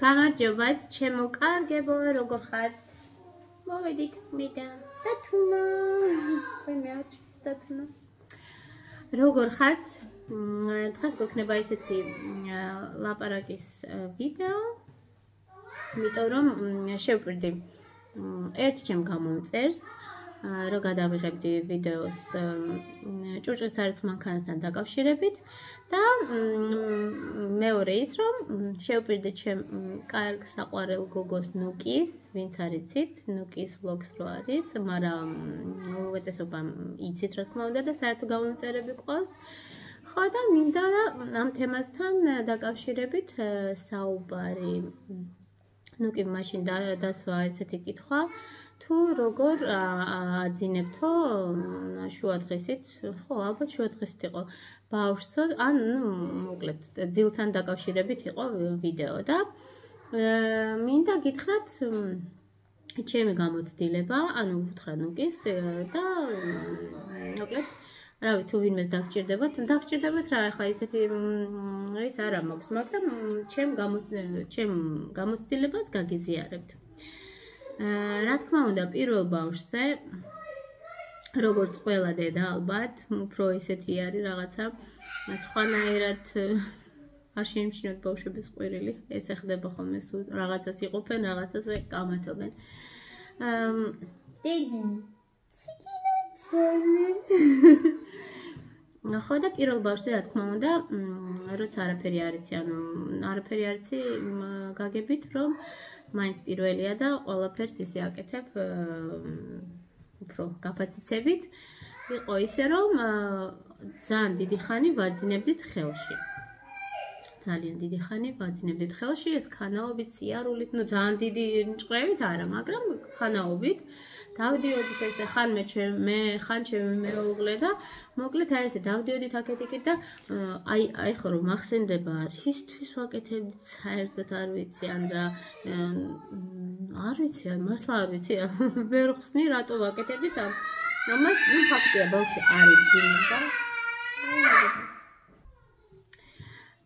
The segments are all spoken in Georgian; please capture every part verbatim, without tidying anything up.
გამარჯობათ, ჩემო კარგებო, როგორ ხართ? მოვედით მე და დათუნა. მე მეაჩვენე დათუნა. როგორ ხართ? დღეს გვექნება ესეთი ლაპარაკის ვიდეო. იმიტომ რომ შევპირდი ერთ ჩემ გამომწერს, რომ გადავიღებდი ვიდეოს ჭურჭლის თარიღ მანქანასთან დაკავშირებით და მეორე ის რომ შევპირდი ჩემ კარგ საყვარელ გოგოს ნუკის, ვინც არ იცით, ნუკის vlogs რო არის, მაგრამ უპირატესობა იცით რა თქმა უნდა და საერთო გამომწერები ყავს. ხო და მინდა ამ თემასთან დაკავშირებით საუბარი. ნუკი მაშინ დასვა ესეთი კითხვა, თუ როგორ აძინებთო შუადღესით, ხო, ალბათ შუადღესით იყო ბავშვსო, ან მოკლედ ძილთან დაკავშირებით იყო ვიდეო და მინდა გითხრათ ჩემი გამოცდილება, ანუ უთხრა ნუკის და მოკლედ რავი თუ ვინმეს დაგჭირდებათ, დაგჭირდებათ რა, ახლა ისეთი ის არა მაქვს, მაგრამ ჩემ ჩემ გამოცდილებას გაგიზიარებთ. რა თქმა უნდა, პირველ ბავშვზე, როგორც ყველა დედა ალბათ, უფრო ისეთი არის რაღაცა, სხვანაირად არ შეიმჩნევთ ბავშვების ყვირილი, ესე ხდება ხოლმე, სულ რაღაცას იყოფენ, რაღაცას კამათობენ. დედი, ხო და პირველ ბავშვზე, რა თქმა უნდა, როცა არაფერი არ იცი, ანუ არაფერი არ იცი, გაგებით, რომ მაინც პირველია და ყველაფერს ისე აკეთებ უფრო გაფაციცებით. იყო ისე, რომ ძალიან დიდი ხანი ვაძინებდით ხელში. ძალიან დიდი ხანი ვაძინებდით ხელში, ეს ხანაობით, სიარულით, ну ძალიან დიდი ჭყრევით არა, მაგრამ ხანაობით. დავდიოდით ესე ხან მე მე ხან ჩემი მეუღლე და მოკლედ აი ესე დავდიოდით აქეთ-იქით და აი აი ხო რომ მახსენდება რისთვის ვაკეთებდით საერთოდ არ ვიცი ან რა არ ვიცი მართლა არ ვიცი ვერ ხსნი რატო ვაკეთებდით ან ამას ნუ ფაქტია ბავშვი არ იცინდა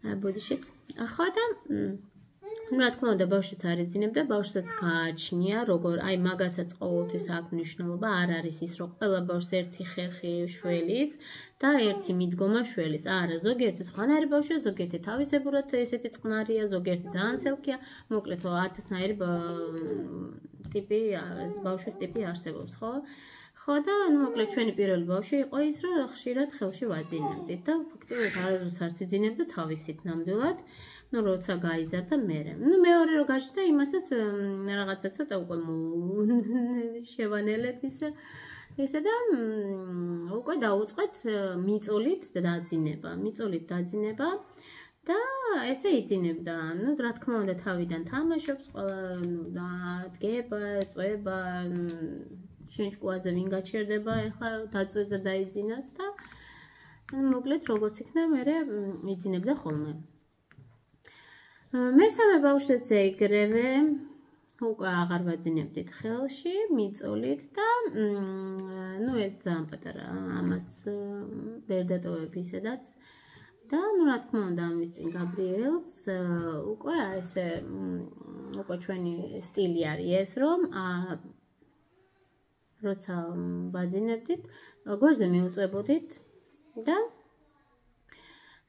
აი ბოდიშით ახლა და ну, რა თქმა უნდა, ბავშვიც არ ეძინებდა, ბავშვსაც გააჩნია, როგორ, აი მაგასაც ყოველთვის აქვს მნიშვნელობა, არ არის ის, რომ ყველა ბავშვს ერთი ხერხი შველის და ერთი მიდგომა შველის. არა, ზოგიერთი სხვანაირი ბავშვია, ზოგიერთი თავისებურად ესეთი წყნარია, ზოგიერთი ძალიან ცელქია, მოკლედ ათასნაირი ტიპი, ბავშვის ტიპი არსებობს, ხო? ხო და მოკლედ ჩვენი პირველი ბავშვი იყო ის, რომ ხშირად ხელში ვაძინებდით და ფაქტობრივად არასდროს არ სიძინებდა თავისით ნამდვილად. ну, როცა გაიზარდა მერე. ну, მეორე რო გაჩნდა, იმასაც რაღაცა ცოტა უკვე შევანელეთ ისე. ესე და უკვე დაუწყეთ მიწოლით დაძინება, მიწოლით დაძინება და ესე იძინებდა. ну, რა თქმა უნდა, თავიდან თამაშობს, ყველა და დგება, წვება, შენჭკუაზე ვინ გაჩერდება, ეხლა დაწვეს და დაიძინას და მოკლედ როგორც იქნა, მერე იძინებდა ხოლმე. მესამე ბავშვზეც ეგრევე უკვე აღარ ვაძინებდით ხელში, მიწოლით და ну ეს ძალიან პატარა ამას ვერ დატოვებ ისედაც და ну რა თქმა უნდა ამის წინ გაბრიელს უკვე ესე უკვე ჩვენი სტილი არის ეს რომ როცა ვაძინებდით გვერდზე მიუწვებოდით და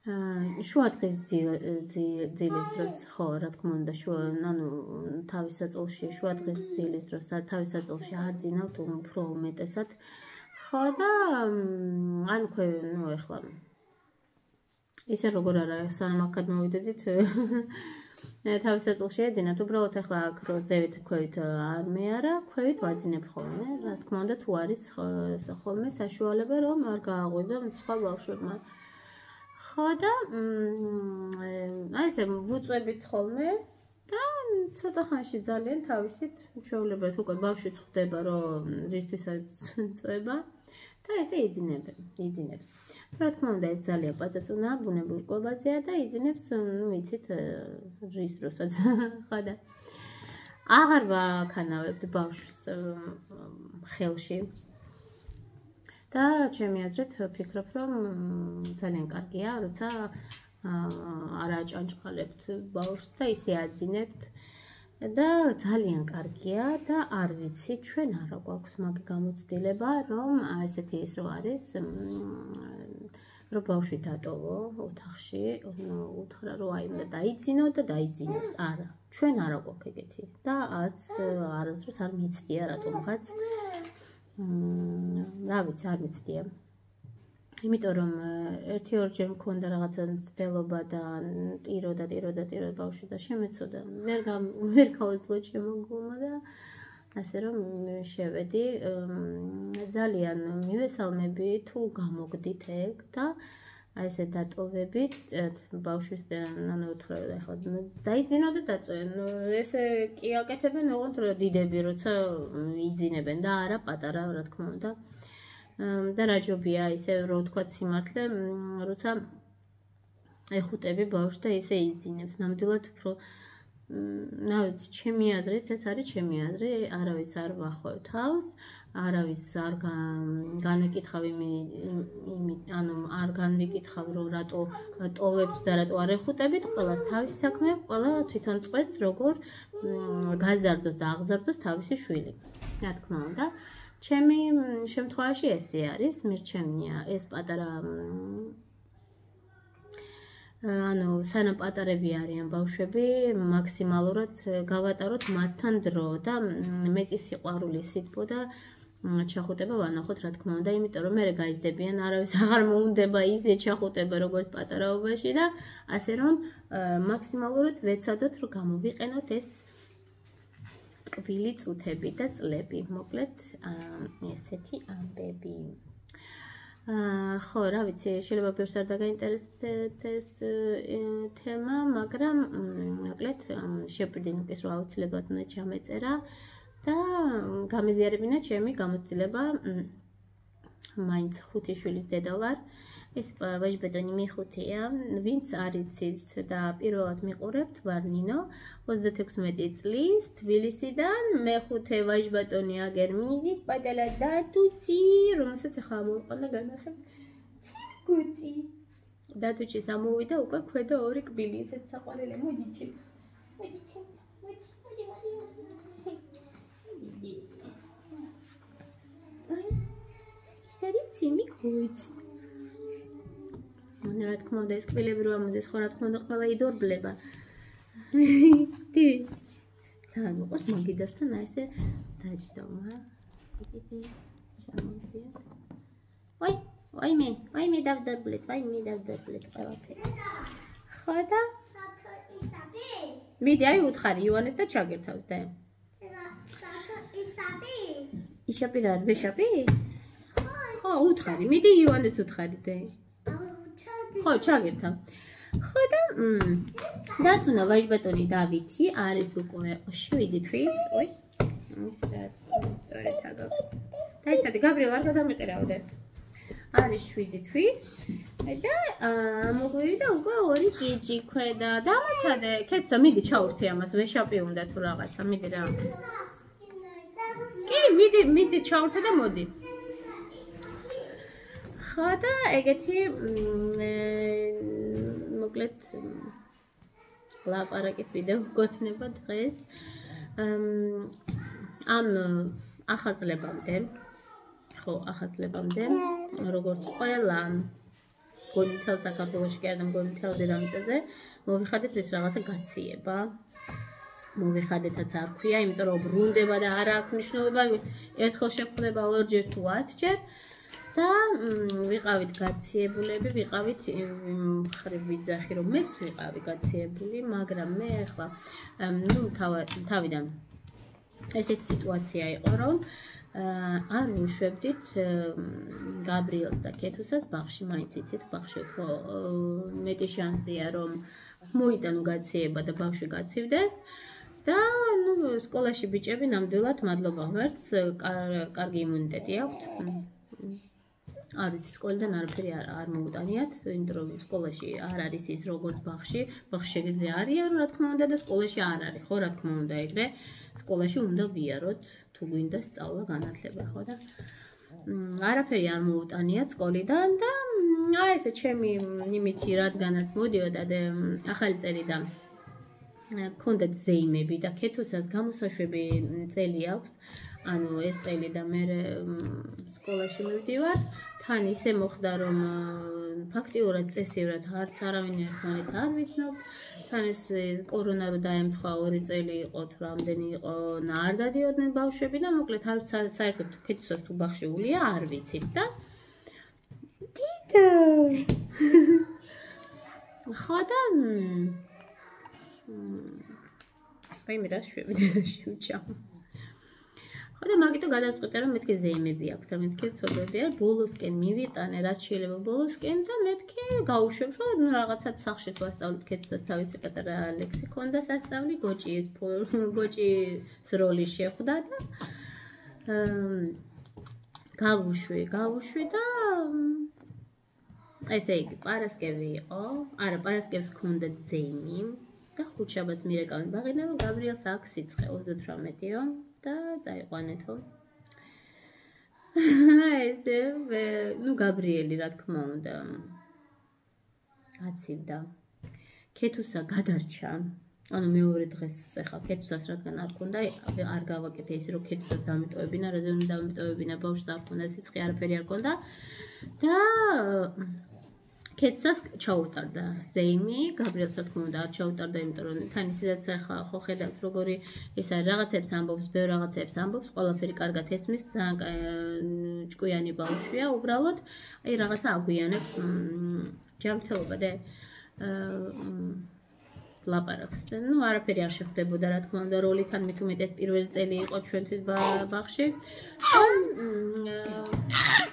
შუადღის ძილის დროს, ხო, რა თქმა უნდა, ანუ თავის საწოლში, შუადღის ძილის დროს, თავის საწოლში აძინავთ უფრო უმეტესად. ხო და ან ქვე, ну, ეხლა ისე როგორ არა, სანამ აქად მოვიდოდით, თავის საწოლში ეძინათ, უბრალოდ ეხლა აქ რო ზევით ქვევით არ მე არა, ქვევით ვაძინებ ხოლმე. რა თქმა უნდა, თუ არის ხოლმე საშუალება, რომ არ გააღვიძო სხვა ბავშვებმა. ხო და აი ესე ვუწვევით ხოლმე და ცოტა ხანში ძალიან თავისით ჩვეულებრივად უკვე ბავშვიც ხვდება რომ რისთვისაც წვება და ესე იძინებენ, იძინებს. რა თქმა უნდა ეს ძალიან პაწაწუნა ბუნებრივ კვებაზეა და იძინებს, ну იცით რის დროსაც ხო და აღარ ვაქანავებთ ბავშვს ხელში. და ჩემი აზრით ვფიქრობ, რომ ძალიან კარგია, როცა არ აჭანჭყალებთ ბავშვს და ისე აძინებთ. და ძალიან კარგია და არ ვიცი ჩვენ არა გვაქვს მაგ გამოცდილება რომ ესეთი ის რო არის რომ ბავშვი დატოვო ოთახში უთხრა რომ აი უნდა დაიძინო და დაიძინოს არა ჩვენ არა გვაქვს ეგეთი და არც არასდროს არ მიცდია რატომღაც რა ვიცი არ მიცდია იმიტომ რომ ერთი ორჯერ მქონდა რაღაცა მცდელობა და ტირო და ტირო და ტირო ბავშვი და შემეცოდა ვერ ვერ გავეძლო ჩემო გულმა და ასე რომ შევედი ძალიან მივესალმები თუ გამოგდით ეგ და აი ესე დატოვებით ბავშვის ანუ უთხრა ახლა დაიძინო და დაწვენო ესე კი აკეთებენ ოღონდ რომ დიდები როცა იძინებენ და არა პატარა რა თქმა უნდა და რაჯობია ისე რო თქვა სიმართლე როცა ეხუტები ბავშვს და ისე იძინებს ნამდვილად უფრო რა ვიცი ჩემი აზრით ეს არის ჩემი აზრი არავის არ ვახვევ თავს არავის არ განვიკითხავ იმი ანუ არ განვიკითხავ რომ რატო ტოვებს და რატო არ ეხუტებით ყველას თავისი საქმე ყველა თვითონ წვეთს როგორ გაზარდოს და აღზარდოს თავისი შვილი რა თქმა უნდა ჩემი შემთხვევაში ესე არის მირჩენია ეს პატარა ანუ სანამ პატარები არიან ბავშვები მაქსიმალურად გავატაროთ მათთან დრო და მეტი სიყვარული სიტყვა და ჩახუტება ვანახოთ რა თქმა უნდა იმიტომ რომ მე გაიზრდებიან არავის აღარ მოუნდება ისე ჩახუტება როგორც პატარაობაში და ასე რომ მაქსიმალურად ვეცადოთ რომ გამოვიყენოთ ეს ტკბილი წუთები და წლები მოკლედ ესეთი ამბები ხო რა ვიცი შეიძლება ბევრს არ დაგაინტერესდეს თემა მაგრამ მოკლედ შეპირდინკის რო აუცილებლად უნდა ჩამეწერა და გამეზიარებინა ჩემი გამოცდილება მაინც ხუთი შვილის დედა ვარ ეს ვაჟბატონი მეხუთეა ვინც არ იცით და პირველად მიყურებთ ვარ ნინო ოცდათექვსმეტი წლის თბილისიდან მეხუთე ვაჟბატონი აგერ მიზის პატარა დათუცი რომელსაც ახლა მოვიყვანა განახებ გუცი დათუჩის ამოვიდა უკვე ქვედა ორი კბილი ესეც საყვარელი მოდი ჩემ მოდი ჩემ მოდი მოდი მოდი ისარი ციმი გუცი რა თქმა უნდა ეს კბილები რო ამოდის ხო რა თქმა უნდა ყველა იდორბლება დი ძალიან მოყავს მაგიდასთან აი ესე დაჯდომა იდე ჩამოვწია ვაი ვაი მე ვაი მე დავდაბლეთ ვაი მე დავდაბლეთ ყველაფერი ხო და ისაბი მიდი აი უთხარი ივანეს და ჩაგერთავს და ისაბი ისაბი რა ვეშაპი ხო უთხარი მიდი ივანეს უთხარი და ხო ჩაგერთავს ხო და დათუნა ვაჟბატონი დავითი არის უკვე შვიდი თვის ой ის რა სწორედ აგავს დაიცადე გაბრიელ არ გადამიყირავდე არის შვიდი თვის და მოგვივიდა უკვე ორი კიჯი ქვედა დამაცადე კეთო მიდი ჩაურთე ამას ვეშაპი უნდა თუ რაღაცა მიდი რა კი მიდი მიდი ჩაურთე და მოდი ხო და ეგეთი მოკლედ ლაპარაკის ვიდეო გქონდება დღეს ამ ახალწლებამდე ხო ახალწლებამდე როგორც ყველა გონითელ საქართველოში კი არა გონითელ დედამიწაზე მოვიხადეთ ეს რაღაცა გაციება მოვიხადეთაც არ ქვია იმიტომ რომ ბრუნდება და არ აქვს მნიშვნელობა ერთხელ შეხვდება ორჯერ თუ ათჯერ და ვიყავით გაციებულები, ვიყავით მხრივ ვიძახი რომ მეც ვიყავი გაციებული, მაგრამ მე ახლა ნუ თავიდან ესეთი სიტუაცია იყო რომ არ ვუშვებდით გაბრიელს და კეთუსას ბაღში, მაინც იცით ბაღში უფრო მეტი შანსია რომ მოიტანო გაციება და ბავშვი გაცივდეს და ნუ სკოლაში ბიჭები ნამდვილად მადლობა ღმერთს კარგი იმუნიტეტი აქვთ არ ვიცი სკოლიდან არაფერი არ მოუტანიათ, იმიტომ რომ სკოლაში არ არის ის როგორც ბაღში, ბაღში შეგიძლია არიან, რა თქმა უნდა და სკოლაში არ არის, ხო, რა თქმა უნდა, ეგრე სკოლაში უნდა ვიაროთ, თუ გვინდა სწავლა, განათლება, ხო და არაფერი არ მოუტანიათ სკოლიდან და აი ესე ჩემი იმითი რადგანაც მოდიოდა და ახალი წელი და ქონდათ ზეიმები და ქეთუსას გამოსაშვები წელი აქვს. ანუ ეს წელი და მე სკოლაში მივდივარ. თან ისე მოხდა რომ ფაქტიურად წესიურად არც არავინ ერთმანეთს არ ვიცნობთ. თან ეს კორონა რო დაემთხვა ორი წელი იყო თუ რამდენი იყო არ დადიოდნენ ბავშვები და მოკლედ არ საერთოდ ქეთუსას თუ ბაღში ულია არ ვიცით და დიდო ხო და მე რა შვები შევჭამ ხო და მაგიტო გადავწყვიტე რომ მეთქი ზეიმები აქვს და მეთქი ცოდვები არ ბოლოსკენ მივიტანე რაც შეიძლება ბოლოსკენ და მეთქი გავუშვებ რომ რაღაცად სახშეს ვასწავლეთ ქეთუსას თავისი პატარა ლექსი ქონდა სასწავლი გოჭის გოჭის როლი შეხვდა და გავუშვი გავუშვი და ესე იგი პარასკევი იყო არა პარასკევს ქონდა ზეიმი და ხუთშაბათს მირეკავენ ბაღიდან რომ გაბრიელს აქვს სიცხე ოცდათვრამეტიო და წაიყვანეთო. ესე ნუ გაბრიელი რა თქმა უნდა გაცივდა. ქეთუსა გადარჩა. ანუ მეორე დღეს ეხლა ქეთუსას რადგან არ ქონდა არ გავაკეთე ისე რომ ქეთუსას დამიტოვებინა, რაზე დამიტოვებინა ბავშვს არ ქონდა სიცხე არაფერი არ ქონდა და ქეთუსას ჩაუტარდა ზეიმი, გაბრიელს რა თქმა უნდა არ ჩაუტარდა, იმიტომ რომ თან ისედაც ახლა ხო ხედავთ როგორი ეს არის რაღაცებს ამბობს, ბევრ რაღაცებს ამბობს, ყველაფერი კარგად ესმის, ჭკვიანი ბავშვია, უბრალოდ აი რაღაცა აგვიანებს ჯანმრთელობა და ლაპარაკს. ნუ არაფერი არ შეხვდებოდა რა თქმა უნდა როლიდან მით უმეტეს პირველი წელი იყო ჩვენთვის ბაღში.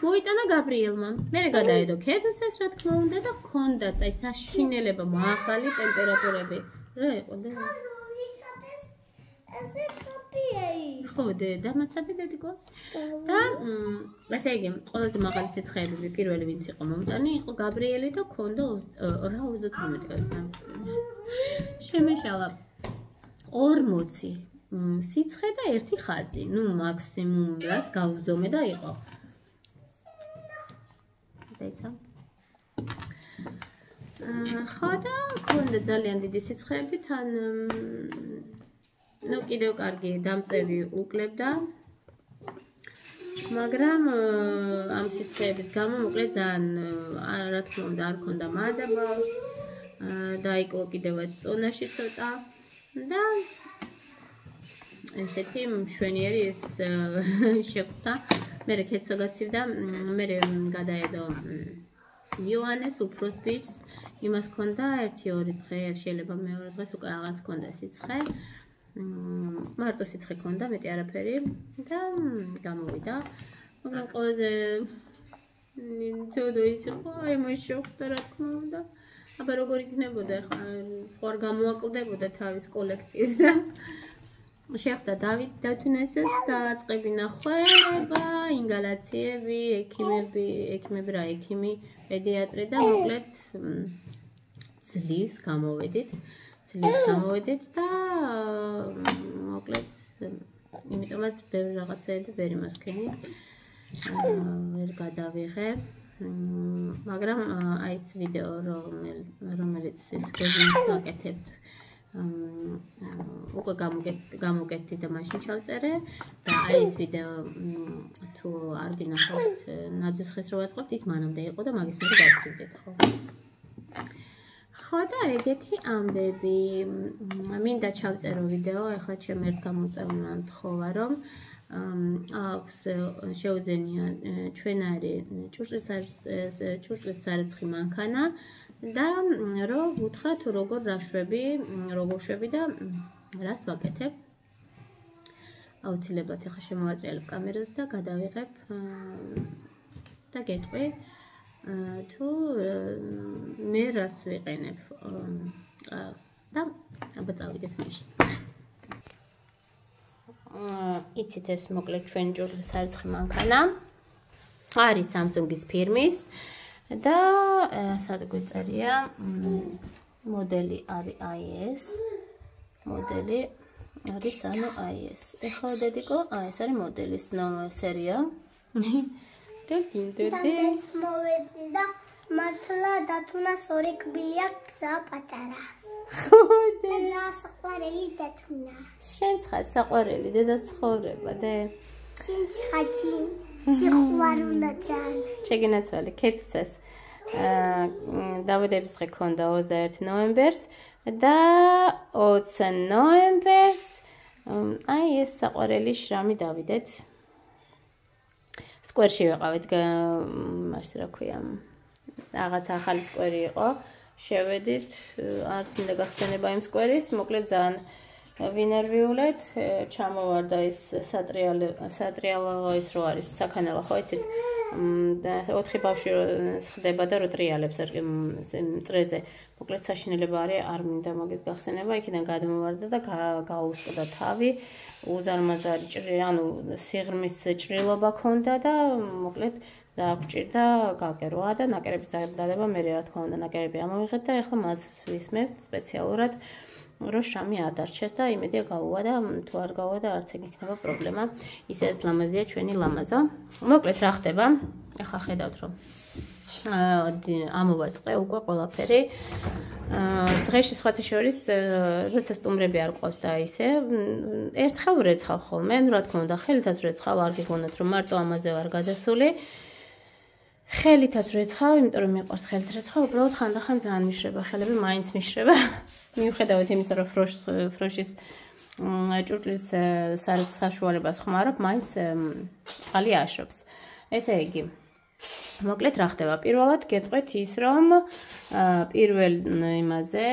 მოიტანა გაბრიელმა. მე გადაედო ქეთუსას რა თქმა უნდა და ჰქონდათ აი საშინელება მაღალი ტემპერატურები. რა იყო და ესე კოპიეი. ხო და დამაცადი დედიკო. და ესე იგი ყველაზე მაღალი სიცხეები პირველი ვინც იყო მომტანი იყო გაბრიელი და ჰქონდა რა ოცდათვრამეტი კაცი. შემეშალა ორმოცი სიცხე და ერთი ხაზი. ნუ მაქსიმუმ რაც გავუზომე და იყო. ხო და ქონდა ძალიან დიდი სიცხეები თან ნუ კიდევ კარგი დამწევი უკლებდა მაგრამ ამ სიცხეების გამო მოკლედ ძალიან რა თქმა უნდა არ ქონდა მადაბა დაიკლო კიდევაც წონაში ცოტა და ესეთი მშვენიერი ეს შეხვდა მე ქეთსა გაცივდა მე გადაედო იოანეს უფროს ბიჭს იმას ქონდა ერთი ორი დღე შეიძლება მეორე დღეს უკვე რაღაც ქონდა სიცხე მარტო სიცხე ქონდა მეტი არაფერი და გამოვიდა მაგრამ ყველაზე ცუდო ის იყო აი მე შეხვდა რა თქმა უნდა აბა როგორ იქნებოდა ხა ხوار გამოაკლდებოდა თავის კოლექტივს და შეხვდა დავით დათუნესეს დააწყებინა ხვალება, ინგალაციები, ექიმები, ექიმები რა, ექიმი, პედიატრი და მოკლედ ძლივს გამოვედით, ძლივს გამოვედით და მოკლედ იმიტომაც ბევრი რაღაცები ვერ იმასქენი ვერ გადავიღე, მაგრამ აი ეს ვიდეო რომელიც ეს გეზინს ვაკეთებთ უკვე გამოგეთდი და მაშინ ჩავწერე და აი ეს ვიდეო თუ არ გინახავთ ნაძვის ხეს რო ვაწყობთ ის მანამდე იყო და მაგის მე გავცივდეთ ხო ხო და ეგეთი ამბები მინდა ჩავწერო ვიდეო ახლა ჩემ ერთ გამოწეულმა მთხოვა რომ აქვს შეუძენია ჩვენარი ჭურჭლის სარეცხი მანქანა და რომ უთხრა თუ როგორ რაშვები, როგორ შვები და რას ვაკეთებ. აუცილებლად ახლა შემოვატრიალებ კამერას და გადავიღებ და გეტყვი თუ მე რას ვიყენებ. და აბა წავიდეთ მაშინ. იცით ეს მოკლედ ჩვენ ჭურჭლის სარეცხი მანქანა არის Samsung-ის ფირმის და სად გვეწერია მოდელი არის i s მოდელი არის ანუ i s ეხლა დედიკო აი ეს არის მოდელის სერია და კიდევ მოვედი და მართლა დათუნას ორი კბილი აქვს პატარა ხოდი. და საყვარელი დათუნა. შენც ხარ საყვარელი დედა ცხოვრება, დე. სინც ხაჭი. სიყვარულო ძალიან. შეგინაცვალე კეთსას. აა დავიდების დღე ქონდა ოცდაერთი ნოემბერს და ოცი ნოემბერს აი ეს საყვარელი შრამი დავიდეთ. სკვერში ვიყავით, მას რა ქვია, რაღაც ახალი სკვერი იყო. შევედით, არც მინდა გახსენება იმ სკვერის, მოკლედ ძალიან ვინერვიულეთ, ჩამოვარდა ის სატრიალო, სატრიალო ის რო არის, საქანელო, ხო იცით? და ოთხი ბავშვი ხდება და რო ტრიალებს წრეზე. მოკლედ საშინელება არის, არ მინდა მაგის გახსენება, იქიდან გადმოვარდა და გაუსკდა თავი. უზარმაზარი ჭრი, ანუ სიღრმის ჭრილობა ქონდა და მოკლედ დააგვჭირდა გაგერვა და ნაკერების დადება მე რა თქმა უნდა ნაკერები ამოვიღეთ და ეხლა მას ვისმენთ სპეციალურად რომ შამი არ დარჩეს და იმედია გავუვა და თუ არ გავუვა და არც ეგ იქნება პრობლემა ისედაც ლამაზია ჩვენი ლამაზო მოკლედ რა ხდება ეხლა ხედავთ რომ ამოვაწყე უკვე ყველაფერი დღეში სხვათა შორის როცა სტუმრები არ ყავს და ისე ერთხელ ვრეცხავ ხოლმე რა თქმა უნდა ხელითაც ვრეცხავ არ გიგონოთ რომ მარტო ამაზე ვარ გადასული ხელითაც ვრეცხავ იმიტომ რომ მიყვარს ხელით რეცხვა უბრალოდ ხანდახან ძალიან მიშრება ხელები მაინც მიშრება მიუხედავად იმისა რომ ფროშის ჭურჭლის საშუალებას ხმარობ მაინც წყალი აშრობს ესე იგი მოკლედ რა ხდება პირველად გეტყვით ის რომ პირველ იმაზე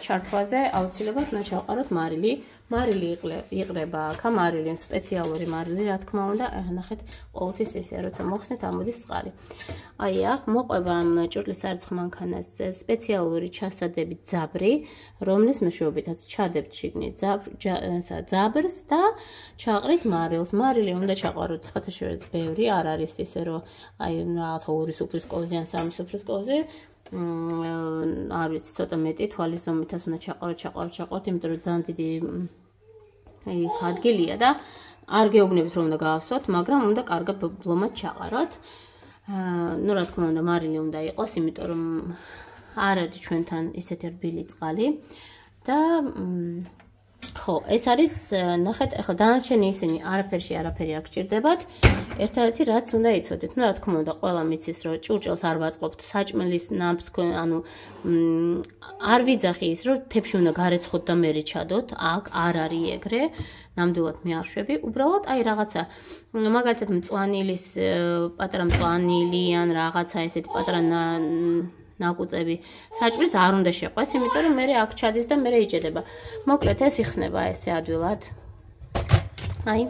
ჩართვაზე აუცილებლად უნდა ჩავყაროთ მარილი მარილი იყრება აქ მარილი სპეციალური მარილი რა თქმა უნდა ნახეთ ყოველთვის ესე როცა მოხსნით ამოდის წყალი აი აქ მოყვება ამ ჭურჭლის სარწყ მანქანას სპეციალური ჩასადებით ძაბრი რომლის მეშვეობითაც ჩადებთ შიგნით ძაბრს და ჩაყრით მარილს მარილი უნდა ჩაყაროთ სხვათა შორის ბევრი არ არის ისე რომ აი რაღაც ორი სუფრის კოვზი ან სამი სუფრის კოვზი არ ვიცი ცოტა მეტი თვალის ზომითაც უნდა ჩაყაროთ ჩაყაროთ ჩაყაროთ იმიტომ რომ ძალიან დიდი აი ადგილია და არ გეუბნებით რომ უნდა გაავსოთ მაგრამ უნდა კარგად ბლომად ჩაყაროთ ну რა თქმა უნდა მარილი უნდა იყოს იმიტომ რომ არ არის ჩვენთან ისეთი რბილი წყალი და ხო ეს არის ნახეთ ახლა დანარჩენი ისინი არაფერში არაფერი არ გჭირდებათ ერთადერთი რაც უნდა იცოდეთ ну რა თქმა უნდა ყველა მიცის რომ ჭურჭელს არ ვაწყობთ საჭმელის ნამს ანუ არ ვიძახი ის რომ თებში უნდა გარეცხოთ და მერე ჩადოთ აქ არ არის ეგრე ნამდვილად მე არ შვები უბრალოდ აი რაღაცა მაგალითად მწვანილის პატარა მწვანილი ან რაღაცა ესეთი პატარა ნაკუწები საჭმლის არ უნდა შეყვეს, იმიტომ რომ მე აქ ჩადის და მე იჭედება. მოკლედ ეს იხსნება ესე ადვილად. აი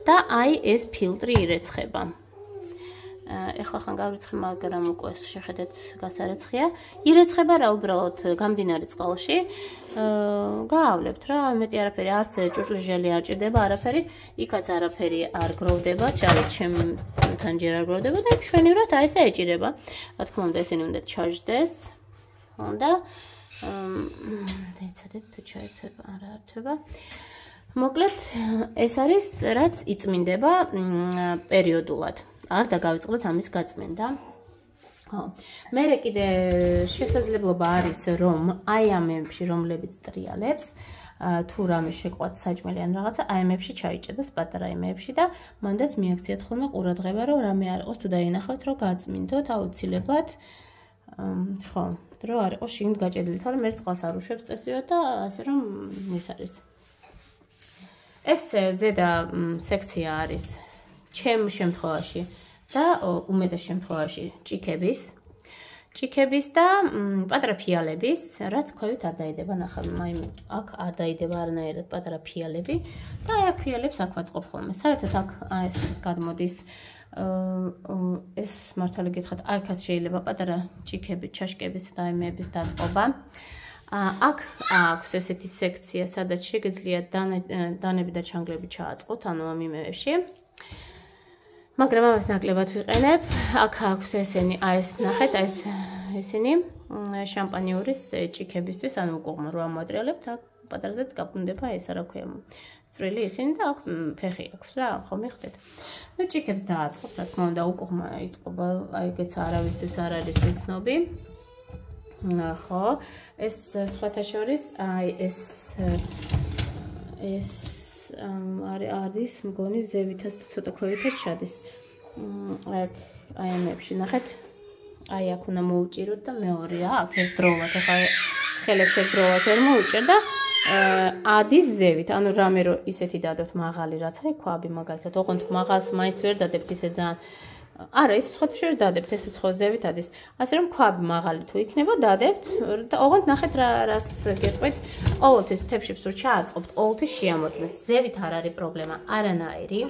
და აი ეს ფილტრი ირეცხება. ეხლა ხან გავრიცხე, მაგრამ უკვე შეხედეთ გასარეცხია. ირეცხება რა უბრალოდ გამდინარე წყალში. გაავლებთ რა, მეტი არაფერი არც ჭურჭლის ჟელი არ ჭირდება, არაფერი, იქაც არაფერი არ გროვდება, ჩავით ჩემთან ჯერ არ გროვდება და მშვენივრად აი ესე ეჭირება. რა თქმა უნდა, ესენი უნდა ჩაჟდეს. და დაიცადეთ თუ ჩაერთვება, არა ართვება. მოკლედ, ეს არის რაც იწმინდება პერიოდულად. არ დაგავიწყდეთ ამის გაწმენდა. ხო. მერე კიდე შესაძლებლობა არის რომ აი ამებში რომლებიც ტრიალებს თუ რამე შეყვათ საჭმელი ან რაღაცა აი ამებში ჩაიჭედოს პატარა იმებში და მანდაც მიაქციათ ხოლმე ყურადღება რომ რამე არ იყოს თუ დაინახავთ რომ გაწმინდოთ აუცილებლად ხო რომ არ იყოს შიგნით გაჭედილი თორემ ერთ წყალს არ უშვებს წესიურად და ასე რომ ეს არის ეს ზედა სექცია არის ჩემ შემთხვევაში და უმეტეს შემთხვევაში ჭიქების ჭიქების და პატარა ფიალების რაც ქვევით არ დაიდება ნახავ აი აქ არ დაიდება არანაირად პატარა ფიალები და აი აქ ფიალებს აქ ვაწყობ ხოლმე საერთოდ აქ ეს გადმოდის ეს მართალი გითხრათ აქაც შეიძლება პატარა ჭიქები ჩაშკების და აიმეების დაწყობა აქ აქვს ესეთი სექცია სადაც შეგიძლიათ დანები და ჩანგლები ჩააწყოთ ანუ ამ იმეებში მაგრამ ამას ნაკლებად ვიყენებ. აქ აქვს ესენი, აი ეს ნახეთ, აი ეს ესენი შამპანიურის ჭიქებისთვის, ანუ უკუღმა რო ამოატრიალებთ, აქ პატარაზეც გაფუნდება ეს რა ქვია. წვრილი ისინი და აქ ფეხი აქვს რა, ხო მიხვდეთ. ნუ ჭიქებს დააწყობთ, რა თქმა უნდა, უკუღმა იწყობა, აი ეგეც არავისთვის არ არის ცნობი. ხო, ეს სხვათა შორის, აი ეს ეს არის მგონი ზევითაც და ცოტა ქვევითაც ჩადის. აი აი ამებში ნახეთ. აი აქ უნდა მოუჭიროთ და მეორეა, აქ ერთდროულად, ახლა ხელებს ერთდროულად ვერ მოუჭერ და ადის ზევით, ანუ რამე რო ისეთი დადოთ მაღალი რაც აი ქვაბი მაგალითად, ოღონდ მაღალს მაინც ვერ დადებთ ისე ძალიან. არა, ის სხვათა შორის დადებთ, ესეც ხო ზევით ადის. ასე რომ ქვაბი მაღალი თუ იქნება, დადებთ და ოღონდ ნახეთ რა რას გეტყვით, ყოველთვის თეფშებს რო ჩააწყობთ, ყოველთვის შეამოწმეთ. ზევით არ არის პრობლემა, არანაირი,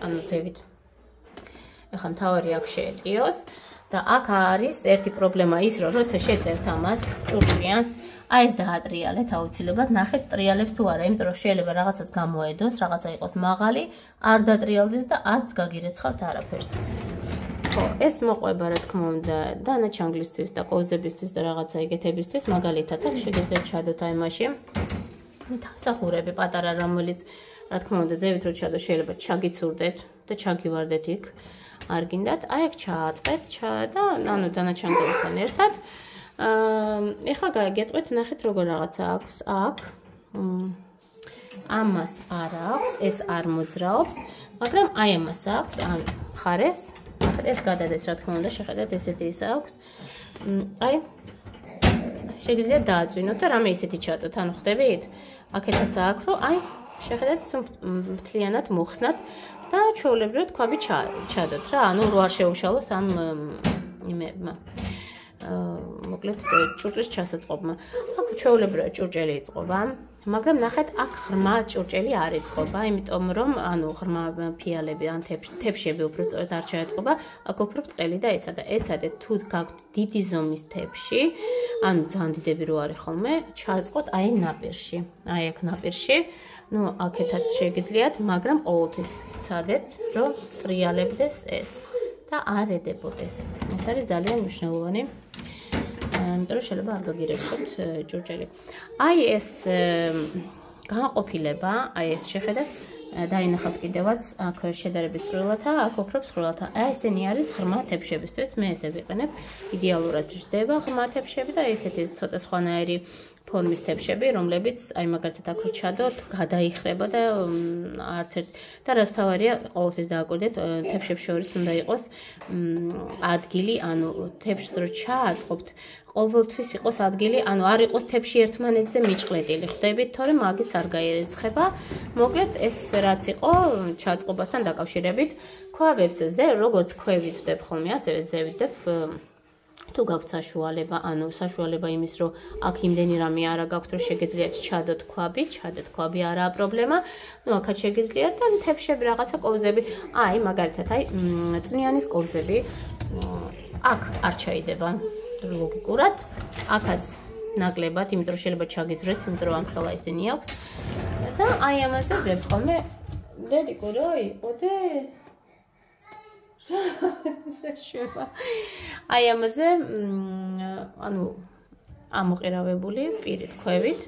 ანუ ზევით. ეხლა მთავარი აქ შეეტიოს და აქ არის ერთი პრობლემა ის, რომ როცა შეწერთ ამას, ჭურჭლიანს, აი ეს დაატრიალეთ აუცილებლად, ნახეთ ტრიალებს თუ არა, იმიტომ რომ შეიძლება რაღაცას გამოედოს, რაღაცა იყოს მაღალი, არ დატრიალდეს და არც გაგირეცხავთ არაფერს. ხო, ეს მოყვება რა თქმა უნდა დანაჩანგლისთვის და კოვზებისთვის და რაღაცა ეგეთებისთვის, მაგალითად აქ შეგიძლიათ ჩადოთ აი მაშინ თავსახურები პატარა რომელიც რა თქმა უნდა ზევით რო ჩადო შეიძლება ჩაგიცურდეთ და ჩაგივარდეთ იქ. არ გინდათ, აი აქ ჩააწყეთ, ჩა და ანუ დანაჩანგლებთან ერთად. აა ეხლა გაგეტყვით, ნახეთ როგორ რაღაცა აქვს აქ. ამას არ აქვს, ეს არ მოძრაობს, მაგრამ აი ამას აქვს, ამ მხარეს. ეს გადადეს რა თქმა უნდა, შეხედეთ, ესეთი ის აქვს. აი შეგიძლიათ დააწვინოთ და რამე ისეთი ჩადოთ, ანუ ხვდებით? აქეთაც აქვს, რომ აი შეხედეთ, მთლიანად მოხსნათ და ჩვეულებრივად ქვაბი ჩადოთ რა, ანუ რო არ შეუშალოს ამ იმებმა. მოკლედ ჭურჭლის ჩასაწყობმა. აქ ჩვეულებრივად ჭურჭელი იწყობა, მაგრამ ნახეთ, აქ ღრმა ჭურჭელი არ იწყობა, იმიტომ რომ ანუ ღრმა ფიალები ან თეფშები უფრო სწორედ არ ჩაეწყობა, აქ უფრო ბრტყელი და ესა და ეცადეთ თუ გაქვთ დიდი ზომის თეფში, ანუ ძალიან დიდები რო არის ხოლმე, ჩააწყოთ აი ნაპირში. აი აქ ნაპირში. ნუ აქეთაც შეგიძლიათ, მაგრამ ყოველთვის ცადეთ, რომ ტრიალებდეს ეს და არ ედებოდეს. ეს არის ძალიან მნიშვნელოვანი. იმიტომ რომ შეიძლება არ გაგირეცხოთ ჭურჭელი. აი ეს განყოფილება, აი ეს შეხედეთ, დაინახავთ კიდევაც აქ შედარების წვრილათა, აქ უფრო მსხვილათა. აი ესენი არის ღრმა თეფშებისთვის, მე ესე ვიყენებ. იდეალურად ჯდება ღრმა თეფშები და ესეთი ცოტა სხვანაირი ფორმის თეფშები, რომლებიც აი მაგალითად აქ ჩადოთ, გადაიხრება და არც ერთ და რაც თავარია, ყოველთვის დააკვირდეთ, თეფშებს შორის უნდა იყოს ადგილი, ანუ თეფშს რო ჩააწყობთ, ყოველთვის იყოს ადგილი, ანუ არ იყოს თეფში ერთმანეთზე მიჭყლეტილი. ხვდებით, თორემ მაგის არ გაირეცხება. მოკლედ ეს რაც იყო ჩაწყობასთან დაკავშირებით, ქვაბებს ზე როგორც ქვევით ვდებ ხოლმე, ასევე ზევით ვდებ. თუ გაქვთ საშუალება, ანუ საშუალება იმის, რომ აქ იმდენი რამე არა გაქვთ, რომ შეგიძლიათ ჩადოთ ქვაბი, ჩადეთ ქვაბი არაა პრობლემა. ნუ აქაც შეგიძლიათ და თეფშები რაღაცა კოვზები, აი მაგალითად, აი წვნიანის კოვზები აქ არ ჩაიდება ლოგიკურად. აქაც ნაკლებად, იმიტომ რომ შეიძლება ჩაგიძვრეთ, იმიტომ რომ ამხელა ისინი აქვს. და აი ამაზე ვდებ ხოლმე. დედიკო რა იყო დე? აი ამაზე ანუ ამოყირავებული პირით ქვევით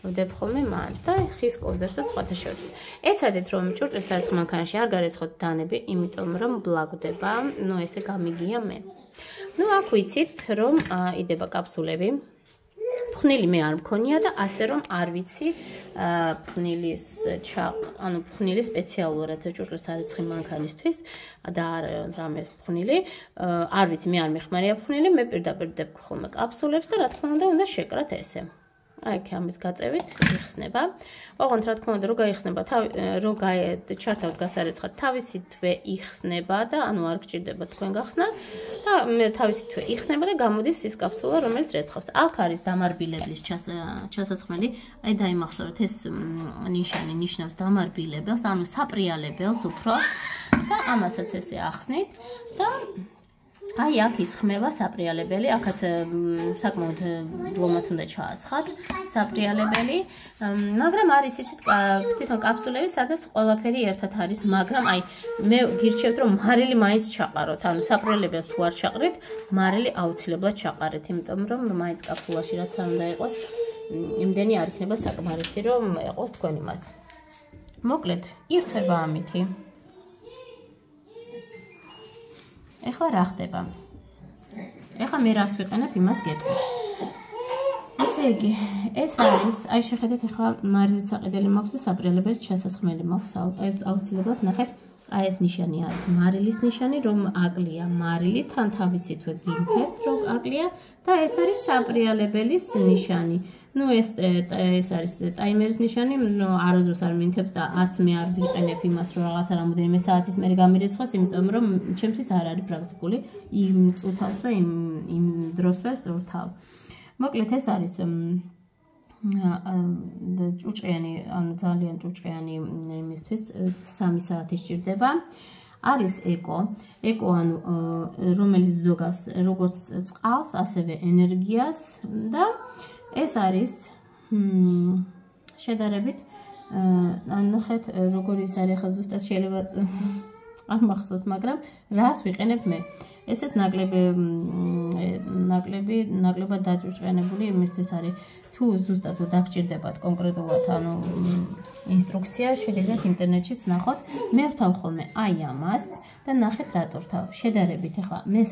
ვდებ ხოლმე მან და ხის კოვზებს და სხვათა შორის. ეცადეთ რომ ჭურჭლის არც მანქანაში არ გარეცხოთ დანები, იმიტომ რომ ბლაგდება, ნუ ესე გამიგია მე. ნუ აქ ვიცით რომ იდება კაფსულები. ფხნილი მე არ მქონია და ასე რომ არ ვიცი ფხნილის ანუ ფხნილი სპეციალურად ჭურჭლის არეცხი მანქანისთვის და არ რამე ფხნილი არ ვიცი მე არ მეხმარია ფხნილი მე პირდაპირ ვდებ ხოლმე კაფსულებს და რა თქმა უნდა უნდა შეკრათ ესე. აი აქ ამის გაწევით იხსნება. ოღონდ რა თქმა უნდა რო გაიხსნება რო ჩართავთ გასარეცხად თავისითვე იხსნება და ანუ არ გჭირდება თქვენ გახსნა და მე თავისითვე იხსნება და გამოდის ის კაფსულა რომელიც რეცხავს. აქ არის დამარბილებლის ჩასასხმელი. აი დაიმახსოვრეთ ეს ნიშანი ნიშნავს დამარბილებელს, ანუ საპრიალებელს უფრო და ამასაც ესე ახსნით და აი აქ ისხმება საპრიალებელი, აქაც საკმაოდ დლომად უნდა ჩაასხათ საპრიალებელი, მაგრამ არის იცით თვითონ კაფსულები, სადაც ყველაფერი ერთად არის, მაგრამ აი მე გირჩევთ რომ მარილი მაინც ჩაყაროთ, ანუ საპრიალებელს თუ არ ჩაყრით, მარილი აუცილებლად ჩაყარეთ, იმიტომ რომ მაინც კაფსულაში რაც არ უნდა იყოს, იმდენი არ იქნება საკმარისი რომ ეყოს თქვენ იმას. მოკლედ, ირთვება ამითი. ეხლა რა ხდება? ეხლა მე რას ვიყენებ, იმას გეტყვით. ესე იგი, ეს არის, აი შეხედეთ ახლა მარილის საყიდელი მაქვს და საპრიალებელი ჩასასხმელი მაქვს. აუცილებლად ნახეთ, აი ეს ნიშანი არის მარილის ნიშანი, რომ აკლია მარილი, თან თავიცითვე გიმთებთ, რომ აკლია და ეს არის საპრიალებელის ნიშანი. ნუ ეს ეს არის ტაიმერის ნიშანი, არასდროს არ მინთებს და არც მე არ ვიყენებ იმას, რომ რაღაცა რამოდენიმე საათის მერე გამირიცხოს, იმიტომ რომ ჩემთვის არ არის პრაქტიკული იმ წუთას და იმ იმ დროსვე რთავ. მოკლედ ეს არის ჭუჭყიანი, ანუ ძალიან ჭუჭყიანი იმისთვის სამი საათი სჭირდება. არის ეკო, ეკო ანუ რომელიც ზოგავს როგორც წყალს, ასევე ენერგიას და ეს არის შედარებით ანუ ნახეთ როგორი ის არის ახლა ზუსტად შეიძლება არ მახსოვს, მაგრამ რას ვიყენებ მე? ეს ეს ნაკლები ნაკლები ნაკლებად დაჭუჭყიანებული იმისთვის არის თუ ზუსტად დაგჭირდებათ კონკრეტულად ანუ ინსტრუქცია შეგიძლიათ ინტერნეტშიც ნახოთ მე ვთავ ხოლმე აი ამას და ნახეთ რატო ვთავ შედარებით ახლა მე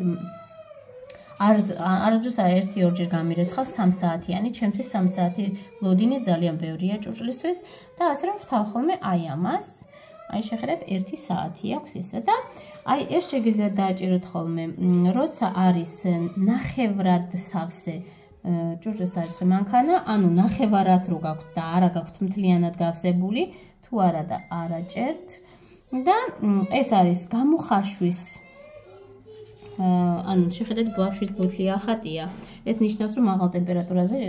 არასდროს ერთი ორჯერ გამირეცხავ სამ საათიანი ჩემთვის სამი საათი ლოდინი ძალიან ბევრია ჭუჭლისთვის და ასე რომ ვთავ ხოლმე აი ამას აი შეხედეთ ერთი საათი აქვს ესა და აი ეს შეგიძლიათ დააჭიროთ ხოლმე როცა არის ნახევრად სავსე ჭურჭლის სარწყი მანქანა ანუ ნახევარად რო გაქვთ და არა გაქვთ მთლიანად გავსებული თუ არა და არაჭერთ და ეს არის გამოხარშვის ანუ შეხედეთ ბავშვის ბოთლი ახატია ეს ნიშნავს რომ მაღალ ტემპერატურაზე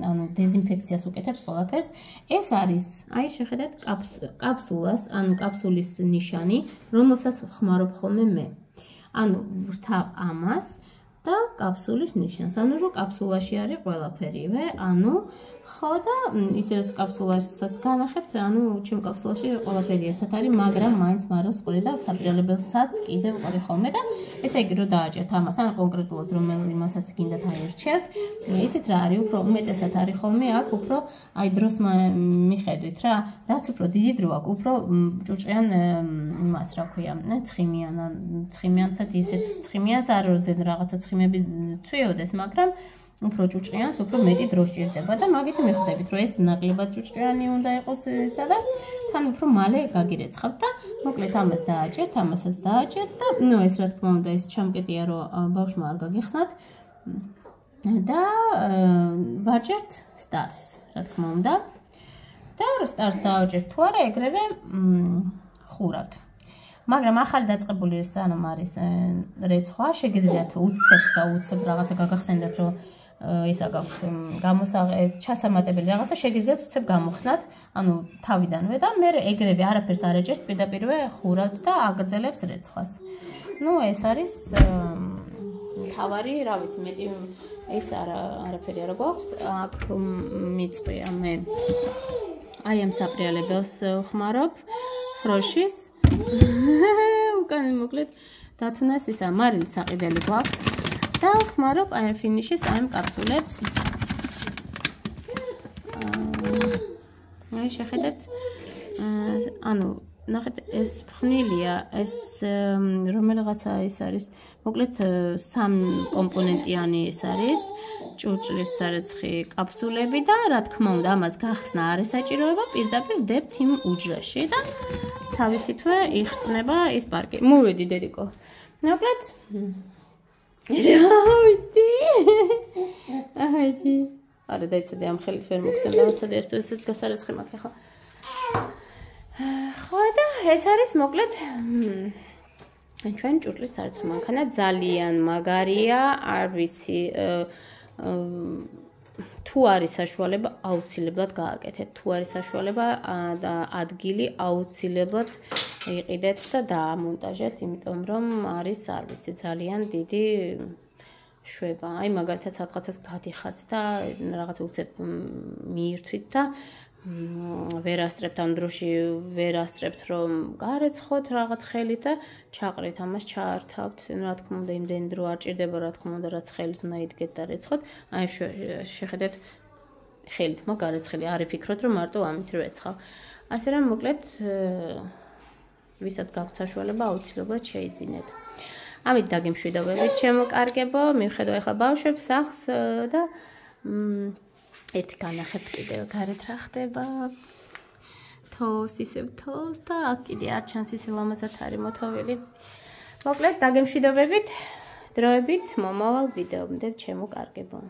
ანუ დეზინფექციას უკეთებს ყველაფერს ეს არის აი შეხედეთ კაფსულას ანუ კაფსულის ნიშანი რომელსაც ხმარობ ხოლმე მე ანუ ვრთავ ამას და კაფსულის ნიშანს ანუ რომ კაფსულაში არის ყველაფერივე ანუ ხო და ისეც კაფსულასაც განახებთ ანუ ჩემ კაფსულაში ყველაფერი ერთად არის მაგრამ მაინც მარას ყოლი და საპრიალებელსაც კიდევ ყოლი ხოლმე და ესე იგი რომ დააჭერთ ამას ან კონკრეტულად რომელი იმასაც გინდათ აერჩევთ იცით რა არის უფრო უმეტესად არის ხოლმე აქ უფრო აი დროს მიხედვით რა რაც უფრო დიდი დრო აქვს უფრო ჭუჭყიან იმას რა ქვია ცხიმიან ცხიმიანსაც ისეთ ცხიმიანს არ როზე რაღაცა ცხიმები ცვიოდეს მაგრამ უფრო ჭუჭყიანს უფრო მეტი დრო სჭირდება და მაგით მიხვდებით რომ ეს ნაკლებად ჭუჭყიანი უნდა იყოს ესა და თან უფრო მალე გაგირეცხავთ და მოკლედ ამას დააჭერთ ამასაც დააჭერთ და ნუ ეს რა თქმა უნდა ეს ჩამკეტია რომ ბავშვმა არ გაგიხსნათ და ვაჭერთ სტარტს რა თქმა უნდა და სტარტს დააჭერთ თუ არა ეგრევე ხურავთ მაგრამ ახალი დაწყებული სანამ არის რეცხვა შეგიძლიათ უცებ და უცებ რაღაცა გაგახსენდათ რომ ისა გაქვთ გამოსაღე ჩასამატებელი რაღაცა შეგიძლიათ უცებ გამოხსნათ ანუ თავიდანვე და მე ეგრევე არაფერს არ ეჭერთ პირდაპირვე ხურავთ და აგრძელებს რეცხვას ну ეს არის თავარი რა ვიცი მეტი ეს არა არაფერი არ გვაქვს აქ მიწყვია მე აი ამ საპრიალებელს ხმარობ ხროშის უკან მოკლედ დათუნას ისა მარილის საყიდელი გვაქვს და ხმარობ აი ფინიშის აი კაფსულებს აი შეხედეთ ანუ ნახეთ ეს ფხნილია ეს რომელიღაცა ის არის მოკლედ სამ კომპონენტიანი ეს არის ჭურჭლის სარეცხი კაფსულები და რა თქმა უნდა ამას გახსნა არ ესაჭიროება პირდაპირ დებთ იმ უჯრაში და თავისითვე იხსნება ის პარკი. მოვედი დედიკო. მოკლედ. რავითი. აიდი. არა დაიცადე ამ ხელით ვერ მოგცემ რაღაცა ერთო ესეც გასარეცხი მაქვს ახლა. ხო და ეს არის მოკლედ ჩვენ ჭურჭლის სარეცხი მანქანა ძალიან მაგარია, არ ვიცი თუ არის საშუალება აუცილებლად გააკეთეთ თუ არის საშუალება და ადგილი აუცილებლად იყიდეთ და დაამონტაჟეთ იმიტომ რომ არის არ ვიცი ძალიან დიდი შვება აი მაგალითად სადღაცას გადიხართ და რაღაც უცებ მიირთვით და ვერ ასწრებთ ამ დროში ვერ ასწრებთ რომ გარეცხოთ რაღაც ხელით და ჩაყრით ამას ჩაართავთ რა თქმა უნდა იმდენი დრო არ ჭირდება რა თქმა უნდა რაც ხელით უნდა იდგეთ და რეცხოთ აი შეხედეთ ხელით მაგარეცხილი არ იფიქროთ რომ მარტო ამით რეცხავ ასე რომ მოკლედ ვისაც გაქვთ საშუალება აუცილებლად შეიძინეთ ამით დაგემშვიდობებით ჩემო კარგებო მივხედავ ახლა ბავშვებს სახლს და ერთი განახებთ კიდევ გარეთ რა ხდება. თოვს ისევ თოვს და აქ კიდე არ ჩანს ისე ლამაზად არის მოთოვილი. მოკლედ დაგემშვიდობებით, დროებით მომავალ ვიდეომდე ჩემო კარგებო.